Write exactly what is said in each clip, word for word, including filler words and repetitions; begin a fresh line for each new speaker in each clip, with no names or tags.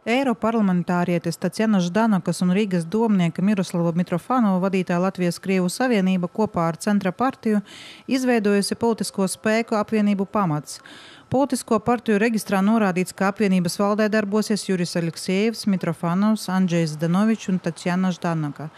Eiroparlamentārietis Tatjana Ždanokas un Rīgas domnieka Miroslava Mitrofanova vadītā Latvijas-Krievu savienība kopā ar Centra partiju izveidojusi politisko spēku apvienību Pamats. Politisko partiju reģistrā norādīts, ka apvienības valdē darbosies Juris Aleksejevs, Mitrofanovs, Andžejs Zdanovičs un Tatjana Ždanoka.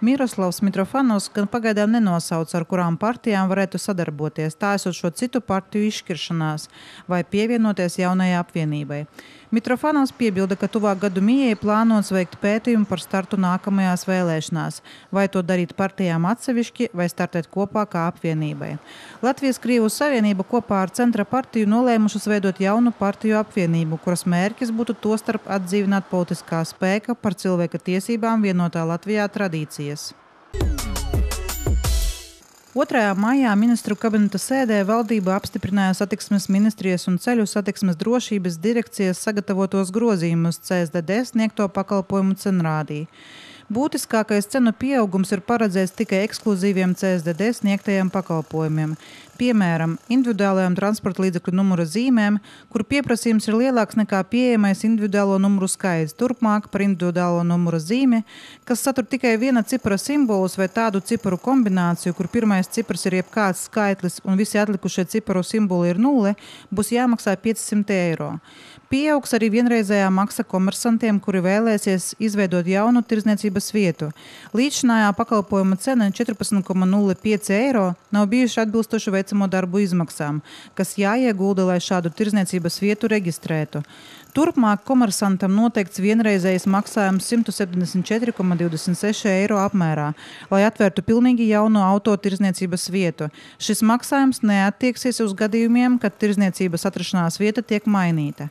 Miroslavs Mitrofanovs gan pagaidām nenosauc, ar kurām partijām varētu sadarboties, tā esot šo citu partiju izšķiršanās vai pievienoties jaunajai apvienībai. Mitrofanovs piebilda, ka tuvāk gadu mijai plānots veikt pētījumu par startu nākamajās vēlēšanās, vai to darīt partijām atsevišķi vai startēt kopā kā apvienībai. Latvijas-Krievu savienība kopā ar Centra partiju nolēmušas veidot jaunu partiju apvienību, kuras mērķis būtu tostarp atdzīvināt politiskā spēka par cilvēka tiesībām vienotā Latvijā tradīcijas. otrajā maijā ministru kabineta sēdē valdība apstiprināja Satiksmes ministrijas un Ceļu satiksmes drošības direkcijas sagatavotos grozījumus C S D D sniegto pakalpojumu cenrādī. Būtiskākais cenu pieaugums ir paredzēts tikai ekskluzīviem C S D D sniegtajiem pakalpojumiem. Piemēram, individuālajām transporta līdzekļu numura zīmēm, kur pieprasījums ir lielāks nekā pieejamais individuālo numuru skaits. Turpmāk par individuālo numura zīmi, kas satur tikai viena cipara simbolus vai tādu ciparu kombināciju, kur pirmais cipars ir jebkāds skaitlis un visi atlikušie ciparu simboli ir nulle, būs jāmaksā piecsimt eiro. Pieaugs arī vienreizējā maksa komersantiem, kuri vēlēsies izveidot jaunu tirdzniecības vietu. Līdzinājā pakalpojuma cena četrpadsmit koma nulle pieci eiro nav bijuši atbilstoši veicamo darbu izmaksām, kas jāiegulda, lai šādu tirdzniecības vietu reģistrētu. Turpmāk komersantam noteikts vienreizējs maksājums simt septiņdesmit četri koma divdesmit seši eiro apmērā, lai atvērtu pilnīgi jaunu auto tirdzniecības vietu. Šis maksājums neattieksies uz gadījumiem, kad tirdzniecības atrašanās vieta tiek mainīta.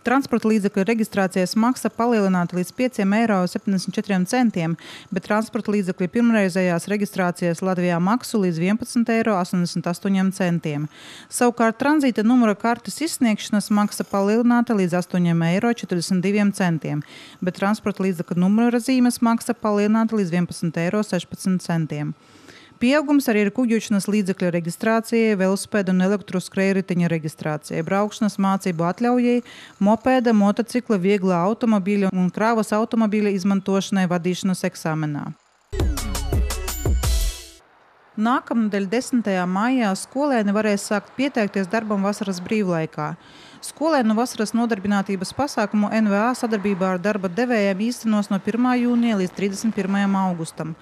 Transporta līdzekļu reģistrācijas maksa palielināta līdz pieciem eiro septiņdesmit četriem centiem, bet transporta līdzekļu pirmreizējās reģistrācijas Latvijā maksu līdz vienpadsmit eiro astoņdesmit astoņiem centiem. Savukārt tranzīta numura kartes izsniegšanas maksa palielināta līdz astoņiem eiro četrdesmit diviem centiem, bet transporta līdzekļu numura zīmes maksa palielināta līdz vienpadsmit eiro sešpadsmit centiem. Pieaugums arī ir kuģošanas līdzekļu reģistrācijai, velosipēda un elektroskrējriteņa reģistrācijai, braukšanas mācību atļaujai, mopēda, motocikla, vieglā automobīļa un krāvas automobīļa izmantošanai vadīšanas eksāmenā. Nākamnedēļ desmitajā maijā skolēni varēs sākt pieteikties darbam vasaras brīvlaikā. Skolēnu vasaras nodarbinātības pasākumu N V A sadarbībā ar darba devējiem īstenos no pirmā jūnija līdz trīsdesmit pirmajam augustam.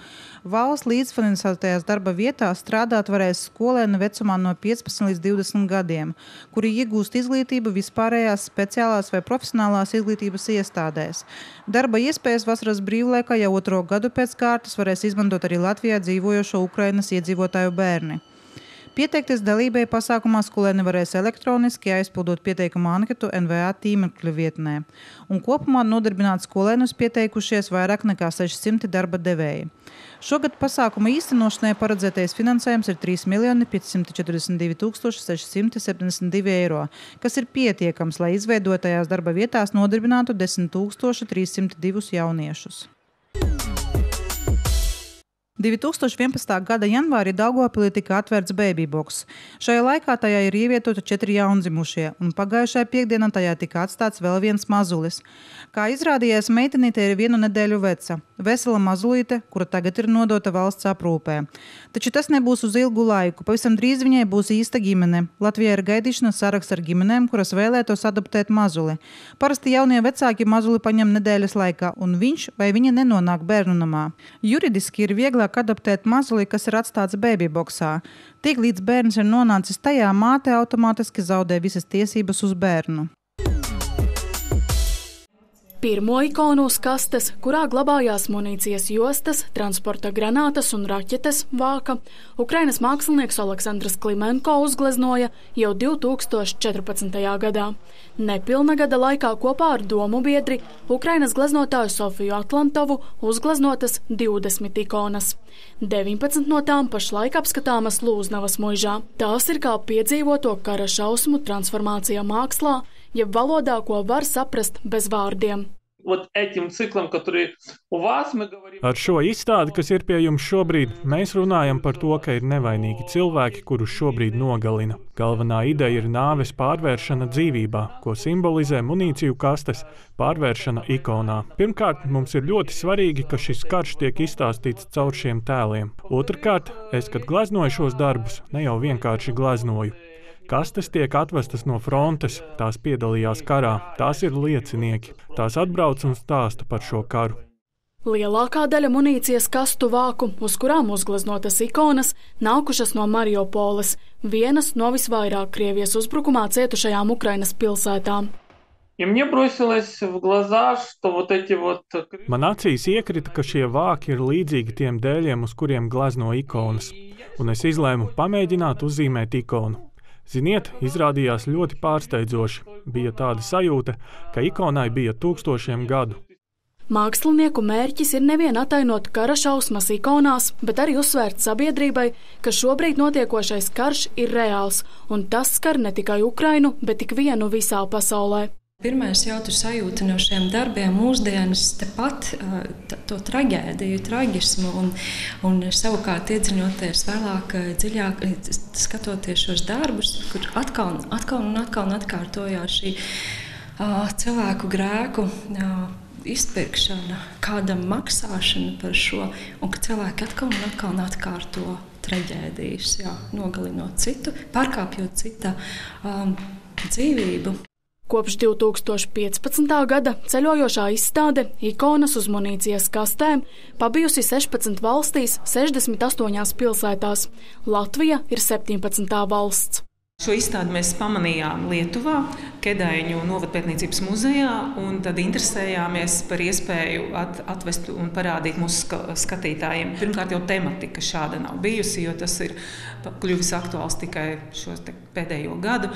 Valsts līdzfinansētajās darba vietās strādāt varēs skolēni vecumā no piecpadsmit līdz divdesmit gadiem, kuri iegūst izglītību vispārējās speciālās vai profesionālās izglītības iestādēs. Darba iespējas vasaras brīvlaikā jau otro gadu pēc kārtas varēs izmantot arī Latvijā dzīvojošo Ukrainas iedzīvotāju bērni. Pieteikties dalībai pasākumā skolēni varēs elektroniski aizpildot pieteikuma anketu N V A tīmekļa vietnē. Un kopumā nodarbināt skolēnus pieteikušies vairāk nekā sešsimti darba devēji. Šogad pasākuma īstenošanai paredzētais finansējums ir trīs miljoni piecsimt četrdesmit divi tūkstoši seši simti septiņdesmit divi eiro, kas ir pietiekams, lai izveidotajās darba vietās nodarbinātu desmit tūkstoši trīs simti divus jauniešus. divi tūkstoši vienpadsmitā gada janvārī Daugavpilī tika atvērts baby box. Šajā laikā tajā ir ievietoti četri jaundzimušie, un pagājušajā piekdienā tajā tika atstāts vēl viens mazulis. Kā izrādījās, meitenīte ir vienu nedēļu veca. Vesela mazulīte, kura tagad ir nodota valsts aprūpē. Taču tas nebūs uz ilgu laiku. Pavisam drīz viņai būs īsta ģimene. Latvijā ir gaidīšanas saraksts ar ģimenēm, kuras vēlētos adoptēt mazuli. Parasti jaunie vecāki mazuli paņem nedēļas laikā, un viņš vai viņa nenonāk bērnu namā. Juridiski ir vieglāk adoptēt mazuli, kas ir atstāts baby boxā. Tik līdz bērns ir nonācis tajā, māte automātiski zaudē visas tiesības uz bērnu.
Pirmo ikonu uz kastes, kurā glabājās munīcijas jostas, transporta granātas un raķetes vāka, Ukrainas mākslinieks Aleksandrs Klimenko uzgleznoja jau divi tūkstoši četrpadsmitajā gadā. Nepilna gada laikā kopā ar domu biedri Ukrainas gleznotāju Sofiju Atlantovu uzgleznotas divdesmit ikonas. deviņpadsmit no tām pašlaik apskatāmas Lūznavas muižā. Tās ir kā piedzīvoto kara šausmu transformācija mākslā, jeb valodā, ko var saprast bez vārdiem.
вот этим циклом, который у вас, мы говорим...
Ar šo izstādi, kas ir pie jums šobrīd, mēs runājam par to, ka ir nevainīgi cilvēki, kurus šobrīd nogalina. Galvenā ideja ir nāves pārvēršana dzīvībā, ko simbolizē munīciju kastes pārvēršana ikonā. Pirmkārt, mums ir ļoti svarīgi, ka šis karš tiek izstāstīts caur šiem tēliem. Otrkārt, es, kad gleznoju šos darbus, ne jau vienkārši gleznoju. Kastes tiek atvestas no frontes, tās piedalījās karā, tās ir liecinieki, tās atbrauc un stāsta par šo karu.
Lielākā daļa munīcijas kastu vāku, uz kurām uzgleznotas ikonas, nākušas no Mariupoles, vienas no visvairāk Krievijas uzbrukumā cietušajām Ukrainas pilsētām.
Man acīs iekrita, ka šie vāki ir līdzīgi tiem dēļiem, uz kuriem glezno ikonas, un es izlēmu pamēģināt uzzīmēt ikonu. Ziniet, izrādījās ļoti pārsteidzoši. Bija tāda sajūta, ka ikonai bija tūkstošiem gadu.
Mākslinieku mērķis ir nevien atainot kara šausmas ikonās, bet arī uzsvērt sabiedrībai, ka šobrīd notiekošais karš ir reāls, un tas skar ne tikai Ukrainu, bet tik vienu visā pasaulē.
Pirmais jautru sajūta no šiem darbiem mūsdienas tepat to traģēdiju, traģismu, un, un savukārt iedziļinoties vēlāk dziļāk, skatoties šos darbus, kur atkal, atkal un atkal atkārtojās šī uh, cilvēku grēku uh, izpirkšana, kādam maksāšana par šo, un ka cilvēki atkal un atkal atkārto traģēdijas, jā, nogalinot citu, pārkāpjot cita um, dzīvību.
Kopš divi tūkstoši piecpadsmitā gada ceļojošā izstāde ikonas uz munīcijas kastēm pabijusi sešpadsmit valstīs, sešdesmit astoņās pilsētās. Latvija ir septiņpadsmitā valsts.
Šo izstādi mēs pamanījām Lietuvā, Kedaiņu novadpētniecības muzejā, un tad interesējāmies par iespēju at, atvest un parādīt mūsu ska, skatītājiem. Pirmkārt, jau tematika šāda nav bijusi, jo tas ir kļuvis aktuāls tikai šo pēdējo gadu,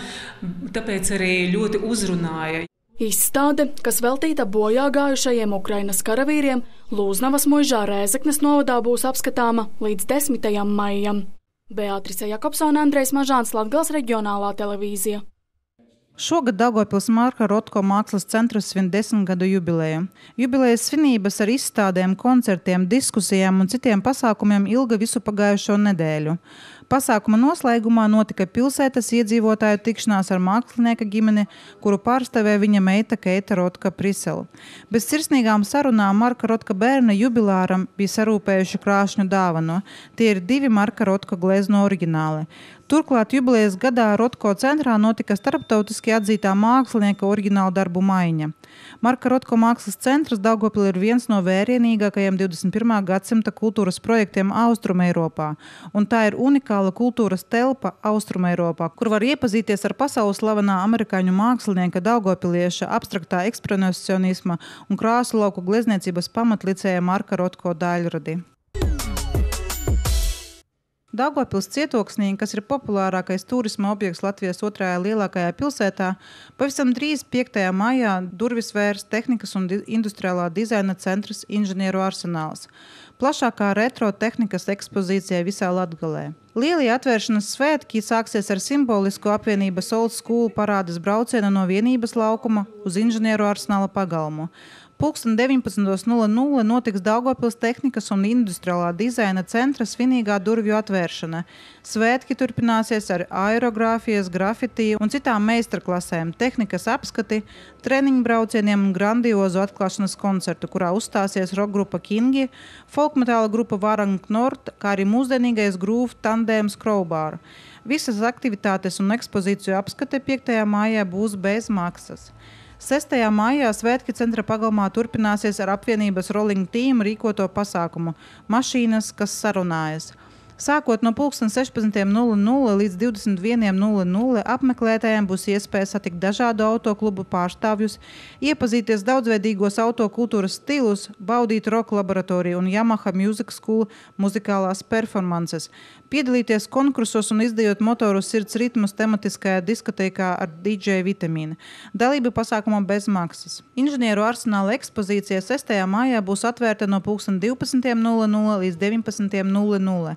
tāpēc arī ļoti uzrunāja.
Izstāde, kas veltīta bojā gājušajiem Ukrainas karavīriem, Lūznavas muižā Rēzeknes novadā būs apskatāma līdz desmitajam maijam. Beatrice Jakobsone, Andrejs Mažāns, Latgales reģionālā televīzija.
Šogad Daugavpils Marka Rotko mākslas centrs svin desmit gadu jubileju. Jubilejas svinības ar izstādēm, koncertiem, diskusijām un citiem pasākumiem ilga visu pagājušo nedēļu. Pasākuma noslēgumā notika pilsētas iedzīvotāju tikšanās ar mākslinieka ģimeni, kuru pārstāvēja viņa meita Keita Rotka Prisela. Bez sirsnīgām sarunām Marka Rotka bērna jubilāram bija sarūpējuši krāšņu dāvanu. Tie ir divi Marka Rotka glezno oriģināli. Turklāt jubilejas gadā Rotko centrā notika starptautiski atzītā mākslinieka oriģināla darbu maiņa. Marka Rotko mākslas centrs Daugavpilī ir viens no vērienīgākajiem divdesmit pirmā gadsimta kultūras projektiem Austrumeiropā, un tā ir unikāla kultūras telpa Austrumeiropā, kur var iepazīties ar pasaules slavenā amerikāņu mākslinieka daugavpilieša abstraktā ekspresionisma un krāsu lauku glezniecības pamatlicēja Marka Rotko daļradi. Daugavpils cietoksnī, kas ir populārākais turisma objekts Latvijas otrajā lielākajā pilsētā, pavisam drīz piektajā maijā durvis vērs tehnikas un industriālā dizaina centrs Inženieru arsenāls. Plašākā retro tehnikas ekspozīcija visā Latgalē. Lielie atvēršanas svētki sāksies ar simbolisku apvienības Old School parādes braucienu no vienības laukuma uz Inženieru arsenāla pagalmu. Pulksten deviņpadsmit nulle nulle notiks Daugavpils tehnikas un industriālā dizaina centra svinīgā durvju atvēršana. Svētki turpināsies ar aerogrāfijas, grafitī un citām meistarklasēm, tehnikas apskati, treniņu braucieniem un grandiozu atklāšanas koncertu, kurā uzstāsies rokgrupa Kingi, folkmetāla grupa Varang Nord, kā arī mūsdienīgais grūvu tandēms Crowbar. Visas aktivitātes un ekspozīciju apskate piektajā maijā būs bez maksas. sestajā maijā svētki centra pagalmā turpināsies ar apvienības Rolling Team rīkoto pasākumu Mašīnas, kas sarunājas. Sākot no pulksten sešpadsmit nulle nulle līdz divdesmit viena nulle nulle apmeklētājiem būs iespēja satikt dažādu autoklubu pārstāvjus, iepazīties daudzveidīgos autokultūras stilus, baudīt roka laboratoriju un Yamaha Music School muzikālās performances, piedalīties konkursos un izdejot motoru sirds ritmus tematiskajā diskotēkā ar D J Vitamīnu. Dalība pasākumā bez maksas. Inženieru arsenāla ekspozīcija sestajā maijā būs atvērta no pulksten divpadsmit nulle nulle līdz deviņpadsmit nulle nulle.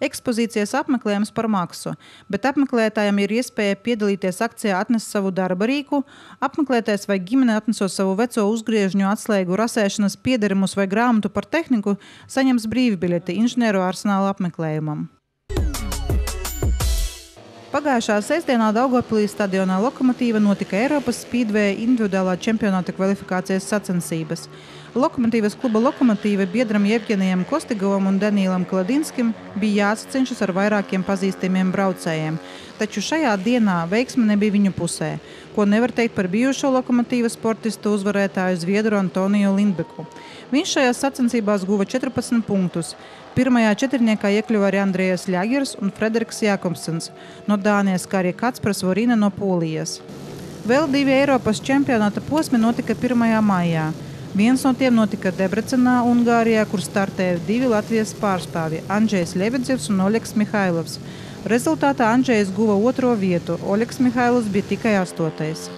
Ekspozīcijas apmeklējums par maksu, bet apmeklētājiem ir iespēja piedalīties akcijā Atnes savu darba rīku. Apmeklētājs vai ģimene atnesot savu veco uzgriežņu atslēgu, rasēšanas piederumus vai grāmatu par tehniku, saņems brīvbiļeti inženieru arsenāla apmeklējumam. Pagājušā sestdienā Daugavpilī stadionā Lokomotīva notika Eiropas spīdvēja individuālā čempionāta kvalifikācijas sacensības. Lokomotīvas kluba Lokomotīva biedram Jevgenijam Kostigovam un Danīlam Kladinskim bija jāsacenšas ar vairākiem pazīstamiem braucējiem, taču šajā dienā veiksme nebija viņu pusē, ko nevar teikt par bijušo Lokomotīvas sportistu uzvarētāju Zviedru Antoniju Lindbeku. Viņš šajās sacensībās guva četrpadsmit punktus. Pirmajā četrniekā iekļuva arī Andrejas Ļagers un Frederiks Jakobsens no Dānijas, kā arī Kacpras Vorina no Polijas. Vēl divi Eiropas čempionāta posmi notika pirmajā maijā. Viens no tiem notika Debrecenā, Ungārijā, kur startēja divi Latvijas pārstāvji – Andžejs Ļebedzevs un Oļegs Mihailovs. Rezultātā Andžejs guva otro vietu, Oļegs Mihailovs bija tikai astotais.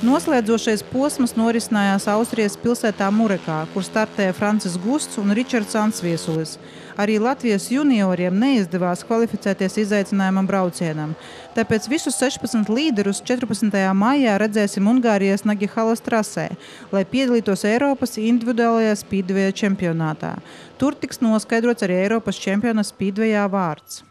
Noslēdzošais posms norisinājās Austrijas pilsētā Murekā, kur startēja Francis Gusts un Ričards Ansviesulis. Arī Latvijas junioriem neizdevās kvalificēties izaicinājumam braucienam. Tāpēc visus sešpadsmit līderus četrpadsmitajā maijā redzēsim Ungārijas Nagihalas trasē, lai piedalītos Eiropas individuālajā spīdveja čempionātā. Tur tiks noskaidrots arī Eiropas čempiona spīdvejā vārds.